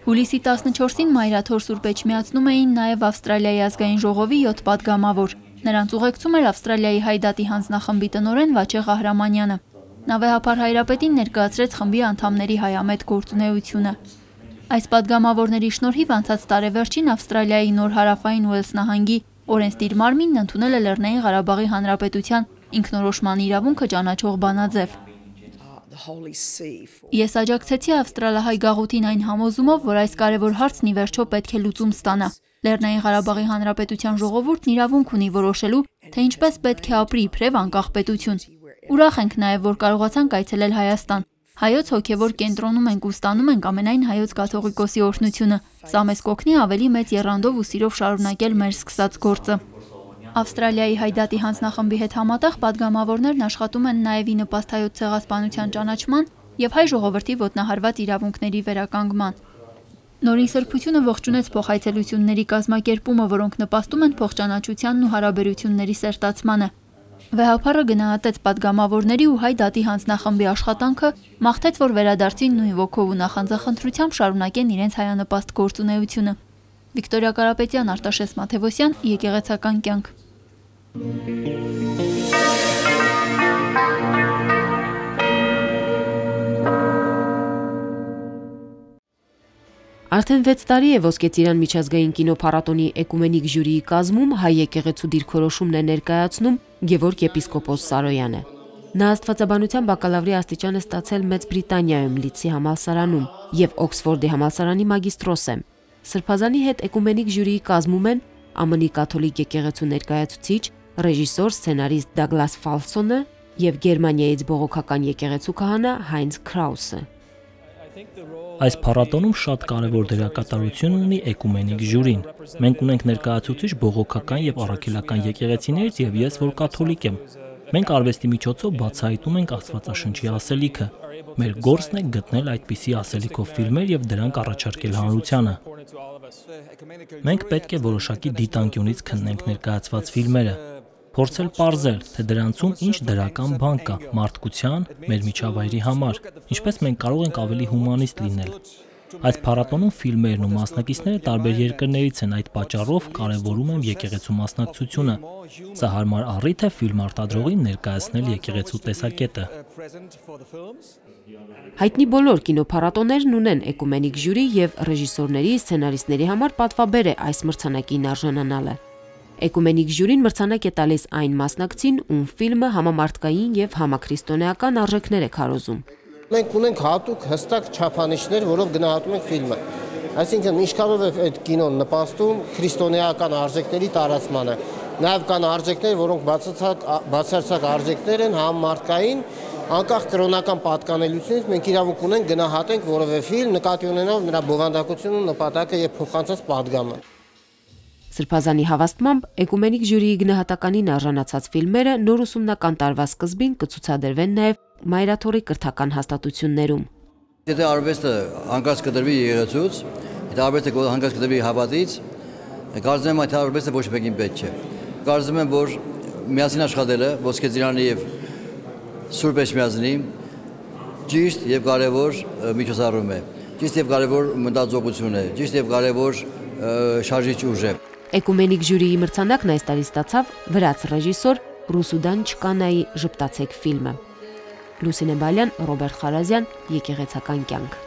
Հուլիսի 14-ին Մայրաթոր Սուրբ Էջմիածնում էին նաև Ավստրալիայի ազգային ժողովի 7 պատգամավոր։ Նրանց ուղեկցում էր Ավստրալիայի Հայդատի հանձնախմբի տնօրեն Վաչե Ղահրամանյանը։ Նա վեհափար Հայրապետին ներկայացրեց խմբի անդամների հայամետ գործունեությունը։ Այս պատգամավորների շնորհիվ անցած տարեվերջին Ավստրալիայի Նոր Հարավային Ուելս նահանգի օրենսդիր մարմինն ընդունել է Լեռնային Ղարաբաղի Հանրապետության ինքնորոշման իրավունքը ճանաչող բանաձև։ Ես աջակցեցի ավստրալահայ գաղութին այն համոզումով, որ այս կարևոր հարցն ի վերջո պետք է լուծում ստանա։ Լեռնային Ղարաբաղի Հանրապետության ժողովուրդն իրավունք ունի որոշելու, թե ինչպես պետք է ապրի իբրև անկախ պետություն։ Ուրախ ենք նաև, որ կարողացանք այցելել Հայաստան։ Հայոց հոգևոր կենտրոնում ենք ու ստանում ենք ամենայն հայոց կաթողիկոսի օրհնությունը։ Սա մեզ կօգնի ավելի մեծ եռանդով ու սիրով շարունակել մեր սկսած գործը։ Ավստրալիայի Հայդատի հանձնախմբի հետ համատեղ պատգամավորներն աշխատում են նաև ի նպաստ հայոց ցեղասպանության ճանաչման և հայ ժողովրդի ոտնահարված իրավունքների վերականգնման։ Նորին սրբությունը ողջունեց փոխայցելությունների կազմակերպումը, որոնք նպաստում են փոխճանաչությանն ու հարաբերությունների սերտացմանը։ Վեհափառը գնահատեց պատգամավորների ու Հայդատի հանձնախմբի աշխատանքը, մաղթեց, որ վերադարձին նույն ոգով ու նախանձախնդրությամբ շարունակեն իրենց հայանպաստ գործունեությունը։ Վիկտորիա Կարապետյան, Արտաշես Մաթևոսյան, Եկեղեցական կյանք։ Արդեն 6 տարի է Ոսկե Ծիրան միջազգային կինոփառատոնի էկումենիկ ժյուրիի կազմում հայ եկեղեցու դիրքորոշումն է ներկայացնում Գևորգ եպիսկոպոս Սարոյանը։ Նա աստվածաբանության բակալավրի աստիճան է ստացել Մեծ Բրիտանիայում Լիդսի համալսարանում և Օքսֆորդի համալսարանի մագիստրոս է։ Սրբազանի հետ էկումենիկ ժյուրիի կազմում են ԱՄՆ կաթոլիկ եկեղեցու ներկայացուցիչ, ռեժիսոր, սցենարիստ Դագլաս Ֆալսոնը և Գերմանիայից բողոքական եկեղեցու քահանա Հայնց Քրաուսը։ Այս փառատոնում շատ կարևոր դերակատարություն ունի էկումենիկ ժյուրին։ Մենք ունենք ներկայացուցիչ բողոքական եւ առաքելական եկեղեցիներից եւ ես, որ կաթոլիկ եմ։ Մենք արվեստի միջոցով բացահայտում ենք Աստվածաշնչի ասելիքը։ Մեր գործն է գտնել այդպիսի ասելիքով ֆիլմեր եւ դրանք առաջարկել հանրությանը։ Մենք պետք է որոշակի դիտանկյունից քննենք ներկայացված ֆիլմերը, փորձել պարզել, թե դրանցում ինչ դրական բան կա մարդկության, մեր միջավայրի համար, ինչպես մենք կարող ենք ավելի հումանիստ լինել։ Այս փառատոնում ֆիլմերն ու մասնակիցները տարբեր երկրներից են, այդ պատճառով կարևորում եմ եկեղեցու մասնակցությունը։ Սա հարմար առիթ է ֆիլմ արտադրողին ներկայացնել եկեղեցու տեսակետը։ Հայտնի բոլոր կինոփառատոներն ունեն էկումենիկ ժյուրի և ռեժիսորների, սցենարիստների համար պատվաբեր է այս մրցանակին արժանանալը։ Էկումենիկ ժյուրին մրցանակ է տալիս այն մասնակցին, ում ֆիլմը համամարտկային և համաքրիստոնեական արժեքներ է քարոզում։ Մենք ունենք հատուկ հստակ չափանիշներ, որով գնահատում ենք ֆիլմը։ Այսինքն ինչքանով է այդ կինոն նպաստում քրիստոնեական արժեքների տարածմանը։ Նաև կան արժեքներ, որոնք բացարձակ արժեքներ են համամարտկային, անկախ կրոնական պատկանելությունից մենք իրավունք ունենք գնահատենք որևէ ֆիլմ նկատի ունենալով նրա բովանդակությունը, նպատակը և փոխանցած պատգամը։ Սրբազանի հավաստմամբ էկումենիկ ժյուրիի գնահատականին արժանացած ֆիլմերը նոր ուսումնական տարվա սկզբին կցուցադրվեն նաև Մայրաթորի կրթական հաստատություններում։ Եթե արվեստը հանգած կդրվի եկեղեցուց, եթե արվեստը հանգած կդրվի հավատից, կարծում եմ այդ արվեստը ոչ մեկին պետք չէ։ Կարծում եմ, որ միասին աշխատելը Ոսկե Ծիրանի և Սուրբ Էջմիածնի ճիշտ և կարևոր միջոցառում է, ճիշտ և կարևոր մտածողություն է, ճիշտ և կարևոր շարժիչ ուժ է։ Էկումենիկ ժյուրիի մրցանակն այս տարի ստացավ վրաց ռեժիսոր Ռուսուդան Չկանայի «Ժպտացեք» ֆիլմը։ Լուսինե Բալյան, Ռոբերտ Խարազյան, Եկեղեցական կյանք։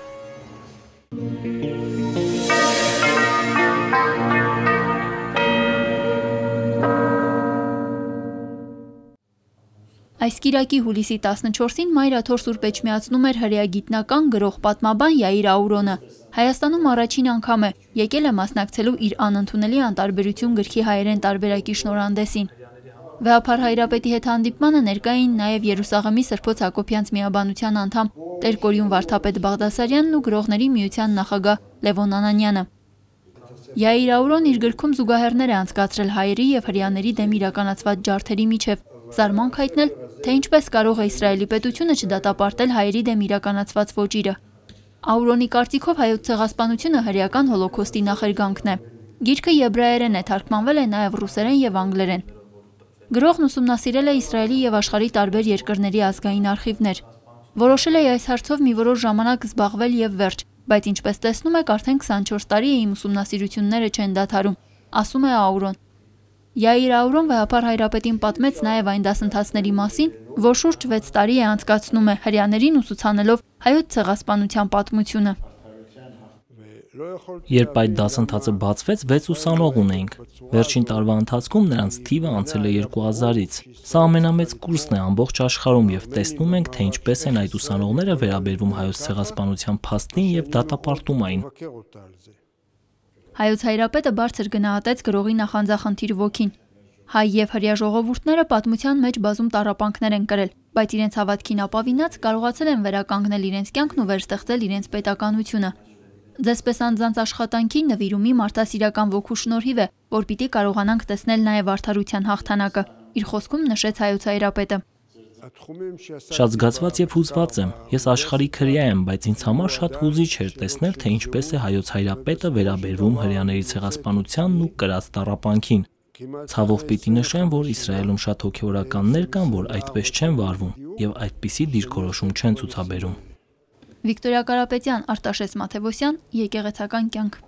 Այս կիրակի հուլիսի 14-ին Մայրաթոր Սուրբ Էջմիածնում էր հրեա գիտնական գրող պատմաբան Յայիր Աուրոնը։ Հայաստանում առաջին անգամ է եկել է մասնակցելու իր անընդունելի անտարբերություն գրքի հայերեն տարբերակի շնորհանդեսին։ Վեհափար Հայրապետի հետ հանդիպմանը ներկա էին նաև Երուսաղեմի Սրբոց Հակոբյանց միաբանության անդամ Տեր-Կորյուն Վարդապետ Բաղդասարյանն ու Գրողների միության նախագահ Լևոն Անանյանը։ Յայիր Աուրոն իր գրքում զուգահեռներ է անցկացրել հայերի և հրեաների դեմ իրականացված ջարդերի միջև, զարմանք հայտնել, թե ինչպես կարող է Իսրայելի պետությունը չդատապարտել հայերի դեմ իրականացված ոճիրը։ Աուրոնի կարծիքով հայոց ցեղասպանությունը հրեական հոլոքոստի նախերգանքն է։ Գիրքը եբրայերեն է, թարգմանվել է նաև ռուսերեն եւ անգլերեն։ Գրողն ուսումնասիրել է Իսրայելի եւ աշխարհի տարբեր երկրների ազգային արխիվներ։ Որոշել է այս հարցով մի որոշ ժամանակ զբաղվել եւ վերջ, բայց ինչպես տեսնում եք, արդեն 24 տարի է իմ ուսումնասիրությունները չեն դադարում, ասում է Աուրոն։ Յայիր Աուրոն վեհապար Հայրապետին պատմեց նաև այն դասընթացների մասին, որ շուրջ 6 տարի է անցկացնում է հրեաներին ուսուցանելով հայոց ցեղասպանության պատմությունը։ Երբ այդ դասընթացը բացվեց, 6 ուսանող ունեինք։ Վերջին տարվա ընթացքում նրանց թիվը անցել է 2000-ից։ Սա ամենամեծ կուրսն է ամբողջ աշխարհում եւ տեսնում ենք, թե ինչպես են այդ ուսանողները վերաբերվում հայոց ցեղասպանության փաստին եւ դատապարտում այն։ Հայոց Հայրապետը բարձր գնահատեց գրողի նախանձախնդիր ոգին։ Հայ եւ հրեա ժողովուրդները պատմության մեջ բազում տառապանքներ են կրել, բայց իրենց հավատքին ապավինած կարողացել են վերականգնել իրենց կյանքն ու վերստեղծել իրենց պետականությունը։ Ձեզպես անձանց աշխատանքի նվիրումի մարդասիրական ոգու շնորհիվ է, որ պիտի կարողանանք տեսնել նաև արդարության հաղթանակը, իր խոսքում նշեց Հայոց Հայրապետը։ Շատ զգացված եւ հուզված եմ։ Ես աշխարհիկ հրեա եմ, բայց ինձ համար շատ հուզիչ էր տեսնել, թե ինչպես է Հայոց Հայրապետը վերաբերվում հրեաների ցեղասպանությանն ու կրած տառապանքին։ Ցավով պիտի նշեմ, որ Իսրայելում շատ հոգեորականներ կան, որ այդպես չեն վարվում եւ այդպիսի դիրքորոշում չեն ցուցաբերում։ Վիկտորիա Կարապետյան, Արտաշես Մաթևոսյան, Եկեղեցական կյանք։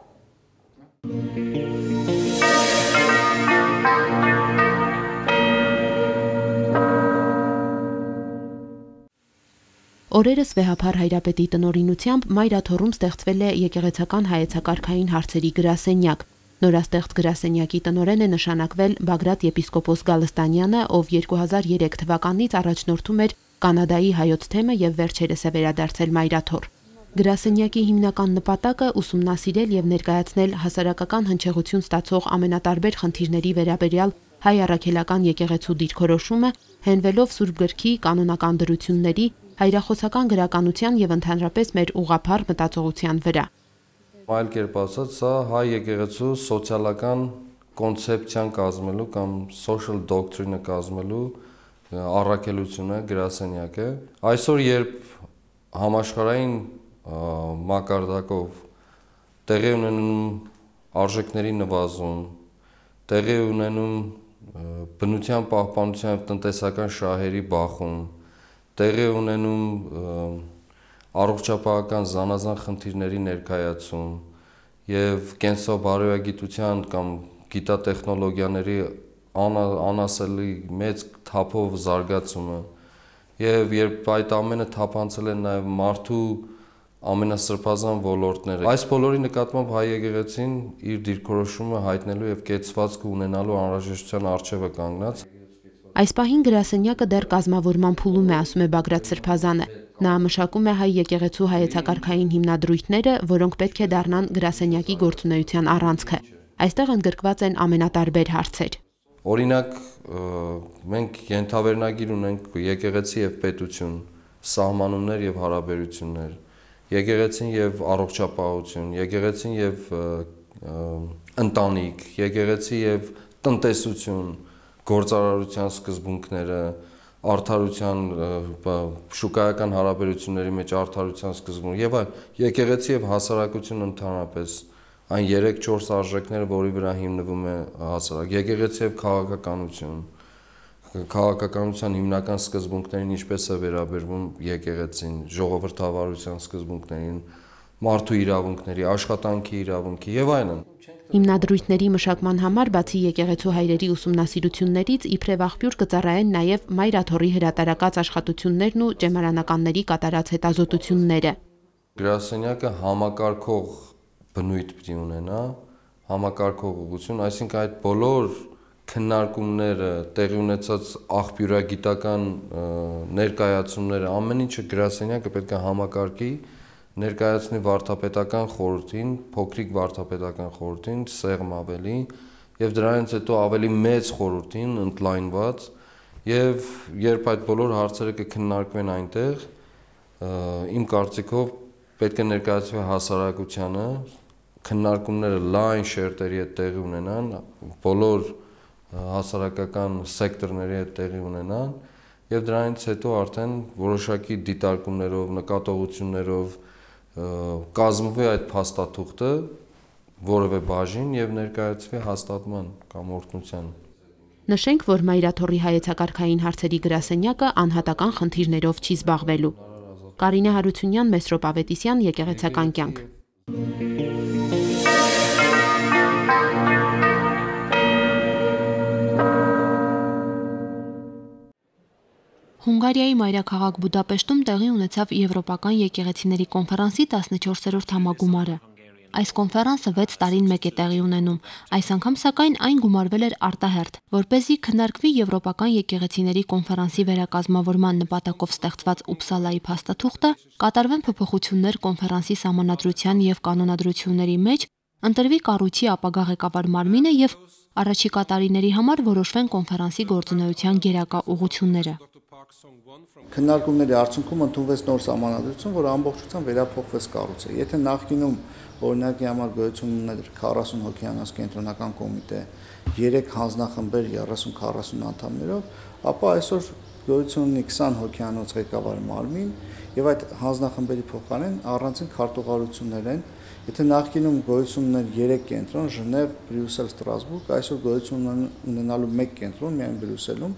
Օրերս վեհապար Հայրապետի տնօրինությամբ Մայրաթոռում ստեղծվել է եկեղեցական հայեցակարգային հարցերի գրասենյակ։ Նորաստեղծ գրասենյակի տնօրեն է նշանակվել Բագրատ եպիսկոպոս Գալստանյանը, ով 2003 թվականից առաջնորդում էր Կանադայի հայոց թեմը եւ վերջերս է վերադարձել Մայրաթոռ։ Գրասենյակի հիմնական նպատակը ուսումնասիրել եւ ներկայացնել հասարակական հնչեղություն ստացող ամենատարբեր խնդիրների վերաբերյալ հայ առաքելական եկեղեցու դիրքորոշումը, հենվելով Սուրբ Գրքի կանոնական դրությունների, հայրախոսական գրականության եւ ընդհանրապես մեր ուղղափառ մտածողության վրա։ Այլ կերպ ասած, սա հայ եկեղեցու սոցիալական կոնցեպցիան կազմելու կամ social doctrine-ը կազմելու առաքելությունը գրասենյակը։ Այսօր երբ համաշխարհային մակարդակով տեղի ունենում արժեքների նվազում, տեղի ունենում բնության պահպանության եւ տնտեսական շահերի բախում, տեղի ունենում առողջապահական զանազան խնդիրների ներկայացում եւ կենսաբարոյագիտության կամ գիտատեխնոլոգիաների անասելի մեծ թափով զարգացումը եւ երբ այդ ամենը թափանցել է նաեւ մարդու ամենասրբազան ոլորտները, այս բոլորի նկատմամբ հայ եկեղեցին իր դիրքորոշումը հայտնելու եւ կեցվածք ունենալու անհրաժեշտության առջեւ է կանգնած։ Այս պահին գրասենյակը դեռ կազմավորման փուլում է, ասում է Բագրատ Սրբազանը։ Նա մշակում է հայ եկեղեցու հայեցակարգային հիմնադրույթները, որոնք պետք է դառնան գրասենյակի գործունեության առանցքը։ Այստեղ ընդգրկված են ամենատարբեր հարցեր։ Օրինակ, մենք ենթավերնագիր ունենք եկեղեցի եւ պետություն, սահմանումներ եւ հարաբերություններ, եկեղեցին եւ առողջապահություն, եկեղեցին եւ ընտանիք, եկեղեցի եւ տնտեսություն, գործարարության սկզբունքները, արդարության շուկայական հարաբերությունների մեջ արդարության սկզբունք եւ այլ, եկեղեցի եւ հասարակություն ընդհանրապես այն 3-4 արժեքները, որի վրա հիմնվում է հասարակ, եկեղեցի եւ քաղաքականություն, քաղաքականության հիմնական սկզբունքներին ինչպես է վերաբերվում եկեղեցին, ժողովրդավարության սկզբունքներին, մարդու իրավունքների, աշխատանքի իրավունքի եւ այլն։ Հիմնադրույթների մշակման համար բացի եկեղեցու հայրերի ուսումնասիրություններից իբրև աղբյուր կծառայեն նաև Մայրաթոռի հրատարակած աշխատություններն ու ճեմարանականների կատարած հետազոտությունները։ Գրասենյակը համակարգող բնույթ պիտի ունենա, համակարգող ուղղություն, այսինքն այդ բոլոր քննարկումները, տեղի ունեցած աղբյուրագիտական ներկայացումները, ամեն ինչը գրասենյակը պետք է համակարգի, ներկայացնի վարդապետական խորհրդին, փոքրիկ վարդապետական խորհրդին, սեղմ ավելի, եւ դրանից հետո ավելի մեծ խորհրդին ընդլայնված, եւ երբ այդ բոլոր հարցերը կքննարկվեն այնտեղ, իմ կարծիքով պետք է ներկայացվի հասարակությանը, քննարկումները լայն շերտերի հետ տեղի ունենան, բոլոր հասարակական սեկտորների հետ տեղի ունենան եւ դրանից հետո արդեն որոշակի դիտարկումներով, նկատողություններով կազմվի այդ փաստաթուղթը որևէ բաժին եւ ներկայացվի հաստատման կամ օրհնության։ Նշենք, որ Մայրաթոռի հայեցակարգային հարցերի գրասենյակը անհատական խնդիրներով չի զբաղվելու։ Կարինե Հարությունյան, Մեսրոպ Ավետիսյան, Եկեղեցական կյանք։ Հունգարիայի մայրաքաղաք Բուդապեշտում տեղի ունեցավ Եվրոպական եկեղեցիների կոնֆերանսի 14-րդ համագումարը։ Այս կոնֆերանսը 6 տարին մեկ է տեղի ունենում։ Այս անգամ սակայն այն գումարվել էր արտահերթ, որպեսզի քննարկվի Եվրոպական եկեղեցիների կոնֆերանսի վերակազմավորման նպատակով ստեղծված Ուպսալայի փաստաթուղթը, կատարվեն փոփոխություններ կոնֆերանսի սահմանադրության եւ կանոնադրությունների մեջ, ընտրվի կառույցի ապագա ղեկավար մարմինը եւ առաջիկա տարիների համար որոշվեն կոնֆերանսի գործունեության գերակա ուղղությունները։ Քննարկումների արդյունքում ընդունվեց նոր սահմանադրություն, որը ամբողջությամբ վերափոխվեց կառույցը։ Եթե նախկինում օրինակի համար գոյություն ուներ 40 հոգեանոց կենտրոնական կոմիտե, 3 հանձնախմբեր 30-40 անդամներով, ապա այսօր գոյություն ունի 20 հոգեանոց ղեկավար մարմին եւ այդ հանձնախմբերի փոխարեն առանցին քարտուղարություններ են։ Եթե նախկինում գոյություն ուներ 3 կենտրոն՝ Ժնև, Բրյուսել, Ստրասբուրգ, այսօր գոյություն ունենալու 1 կենտրոն միայն Բրյուսելում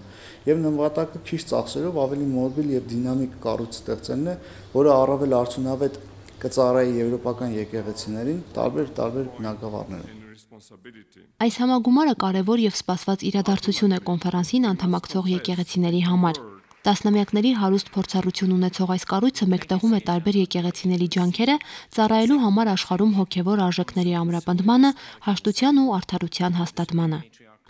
եւ նպատակը քիչ ծախսերով ավելի մոբիլ եւ դինամիկ կառույց ստեղծելն է, որը առավել արդյունավետ կծառայի եվրոպական եկեղեցիներին տարբեր բնակավարներում։ Այս համագումարը կարևոր եւ սպասված իրադարձություն է կոնֆերանսին անդամակցող եկեղեցիների համար։ Տասնամյակների հարուստ փորձառություն ունեցող այս կառույցը մեկտեղում է տարբեր եկեղեցիների ջանքերը ծառայելու համար աշխարհում հոգևոր արժեքների ամրապնդմանը, հաշտության ու արդարության հաստատմանը։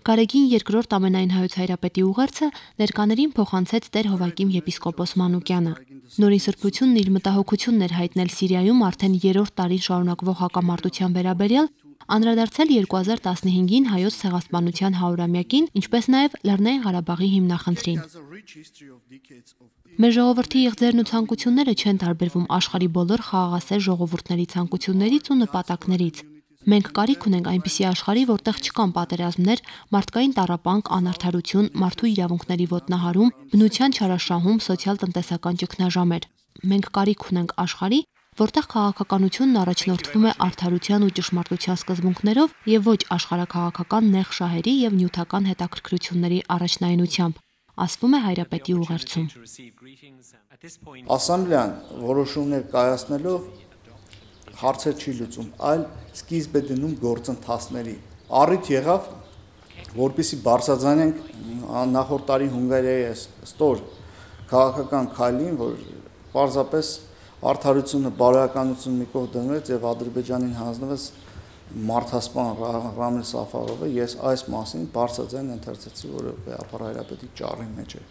Գարեգին երկրորդ ամենայն հայոց հայրապետի ուղերձը ներկաներին փոխանցեց Տեր Հովակիմ եպիսկոպոս Մանուկյանը։ Նորին սրբությունն իր մտահոգությունն էր հայտնել Սիրիայում արդեն 3-րդ տարին շարունակվող հակամարտության վերաբերյալ, անդրադարձել 2015-ին հայոց ցեղասպանության 100-ամյակին, ինչպես նաև Լեռնային Ղարաբաղի հիմնախնդրին։ Մեր ժողովրդի եղձերն ու ցանկությունները չեն տարբերվում աշխարհի բոլոր խաղաղասեր ժողովուրդների ցանկություններից ու նպատակներից։ Մենք կարիք ունենք այնպիսի աշխարհի, որտեղ չկան պատերազմներ, մարդկային տառապանք, անարդարություն, մարդու իրավունքների ոտնահարում, բնության չարաշահում, սոցիալ-տնտեսական ճգնաժամեր։ Մենք կարիք ունենք աշխարհի, որտեղ քաղաքականությունն առաջնորդվում է արդարության ու ճշմարտության սկզբունքներով եւ ոչ աշխարհաքաղաքական նեղ շահերի եւ նյութական հետաքրքրությունների առաջնայինությամբ, ասվում է հայրապետի ուղերձում։ Ասամբլեան որոշումներ կայացնելով հարցեր չի լուծում, այլ սկիզբ է դնում գործընթացների։ Առիթ եղավ, որպեսզի բարձրաձայնենք նախորդ տարի Հունգարիայի ստոր քաղաքական քայլին, որ պարզապես արդարությունը, բարոյականությունը մի կողմ դնվեց եւ Ադրբեջանին հանձնվեց մարդասպան Ռամիլ Սաֆարովը։ Ես այս մասին բարձրաձայն ընթերցեցի, որը Ապար հայրապետի ճառի մեջ է։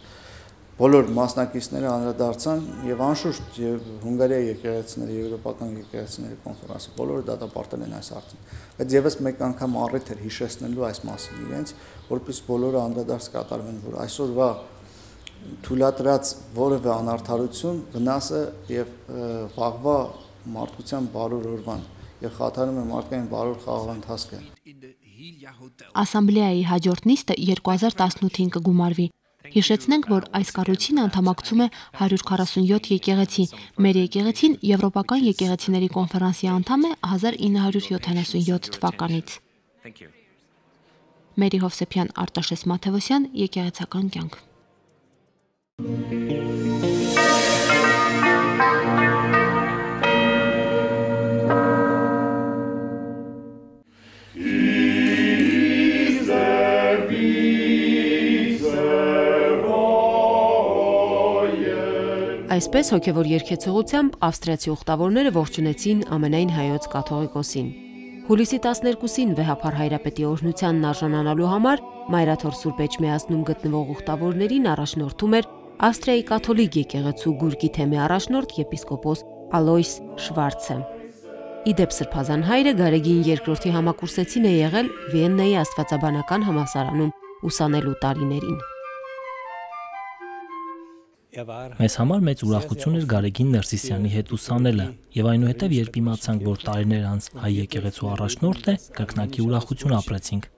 Բոլոր մասնակիցները անդրադարձան եւ անշուշտ Հունգարիայի եկեղեցիների, եվրոպական եկեղեցիների կոնֆերանսը բոլորը դատապարտել են այս հարցին։ Բայց եւս մեկ անգամ առիթ էր հիշեցնելու այս մասին իրենց, որպես բոլորը անդրադարձ կատարվեն, որ այսօրվա թույլատրած որևէ անարդարություն վնաս է եւ վաղվա մարդկության բարոր օրվան եւ խաթարում է մարդկային բարոր խաղաղ ընթացքը։ Ասամբլեայի հաջորդ նիստը 2018-ին կգումարվի։ Հիշեցնենք, որ այս կառույցին անդամակցում է 147 եկեղեցի։ Մեր եկեղեցին Եվրոպական եկեղեցիների կոնֆերանսի անդամ է 1977 թվականից։ Մերի Հովսեփյան, Արտաշես Մաթևոսյան, Եկեղեցական կյանք։ Այսպես հոգևոր երգեցողությամբ ավստրիացի ուխտավորները ողջունեցին ամենայն հայոց կաթողիկոսին։ Հուլիսի 12-ին վեհափառ հայրապետի օրհնությանն արժանանալու համար Մայրաթոռ Սուրբ Էջմիածնում գտնվող ուխտավորներին առաջնորդում էր Ավստրիայի կաթոլիկ եկեղեցու գուրգի թեմի առաջնորդ եպիսկոպոս Ալոյս Շվարցը։ Իդեպ Սրբազան հայրը Գարեգին II համակուրսեցին է եղել Վիեննայի Աստվածաբանական համալսարանում ուսանելու տարիներին։ Մեզ համար մեծ ուրախություն էր Գարեգին Ներսիսյանի հետ ուսանելը, եւ այնուհետեւ երբ իմացանք, որ տարիներ անց հայ եկեղեցու առաջնորդ է, կրկնակի ուրախություն ապրեցինք։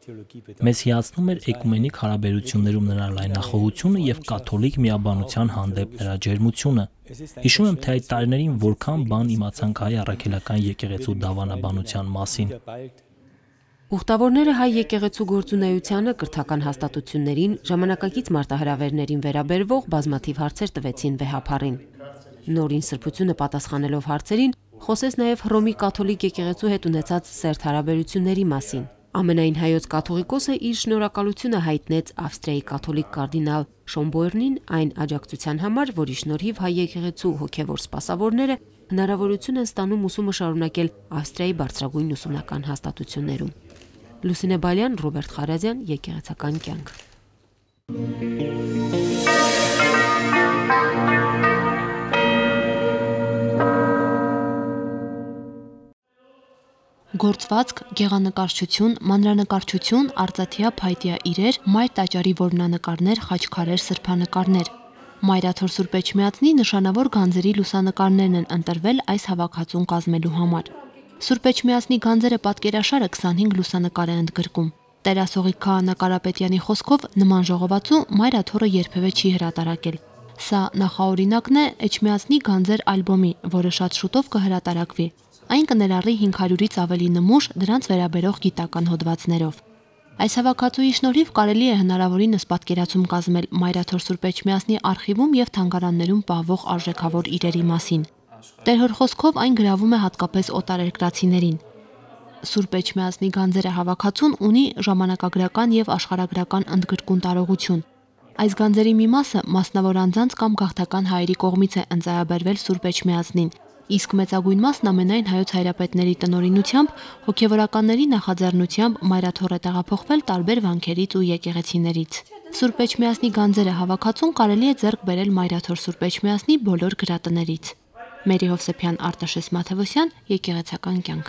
Մեզ հիացնում էր էկումենիկ հարաբերություններում նրա լայնախոհությունը եւ կաթոլիկ միաբանության հանդեպ նրա ջերմությունը։ Հիշում եմ, թե այդ տարիներին որքան բան իմացանք հայ առաքելական եկեղեցու դավանաբանության մասին։ Ուխտավորները հայ եկեղեցու գործունեությանը, կրթական հաստատություններին, ժամանակակից մարտահրավերներին վերաբերվող բազմաթիվ հարցեր տվեցին վեհափառին։ Նորին սրբությունը պատասխանելով հարցերին, խոսեց նաև Հռոմի կաթոլիկ եկեղեցու հետ ունեցած սերտ հարաբերությունների մասին։ Ամենայն հայոց կաթողիկոսը իր շնորհակալությունը հայտնեց Ավստրիայի կաթոլիկ կարդինալ Շոմբոերնին այն աջակցության համար, որի շնորհիվ հայ եկեղեցու հոգևոր սպասավորները հնարավորություն են ստանում ուսումը շարունակել Ավստրիայի բարձրագույն ուսումնական հաստատություններում։ Լուսինե Բալյան, Ռոբերտ Խարազյան, Եկեղեցական կյանք։ Գործվածք, գեղանկարչություն, մանրանկարչություն, արծաթյա փայտյա իրեր, մայր տաճարի որմնանկարներ, խաչքարեր, սրբանկարներ։ Մայրաթոր Սուրբ Էջմիածնի նշանավոր գանձերի լուսանկարներն են ընտրվել այս հավաքածուն կազմելու համար։ Սուրբ Էջմիածնի գանձերը պատկերաշարը 25 լուսանկար է ընդգրկում։ Տերասողիկ Քահանա Կարապետյանի խոսքով նման ժողովածու Մայրաթորը երբևէ չի հրատարակել։ Սա նախաօրինակն է Էջմիածնի գանձեր ալբոմի, որը շատ շուտով կհրատարակվի։ Այն կներառի 500-ից ավելի նմուշ դրանց վերաբերող գիտական հոդվածներով։ Այս հավաքածուի շնորհիվ կարելի է հնարավորինս պատկերացում կազմել Մայրաթոր Սուրբ Էջմիածնի արխիվում եւ թանգարաններում պահվող արժեքավոր իրերի մասին։ Տերհոր խոսքով այն գրավում է հատկապես օտարերկրացիներին։ Սուրբ Էջմիածնի գանձերը հավաքածուն ունի ժամանակագրական եւ աշխարհագրական ընդգրկուն տարողություն։ Այս գանձերի մի մասը մասնավոր անձանց կամ գաղթական հայերի կողմից է ընծայաբերվել Սուրբ Էջմիածնին, իսկ մեծագույն մասն ամենայն հայոց հայրապետների տնօրինությամբ, հոգևորականների նախաձեռնությամբ Մայրաթոր է տեղափոխվել տարբեր վանքերից ու եկեղեցիներից։ Սուրբ Էջմիածնի գանձերը հավաքածուն կարելի է ձեռք բերել Մայրաթոր Սուրբ Էջմիածնի բոլոր գրատներից։ Մերի Հովսեփյան, Արտաշես Մաթևոսյան, Եկեղեցական կյանք։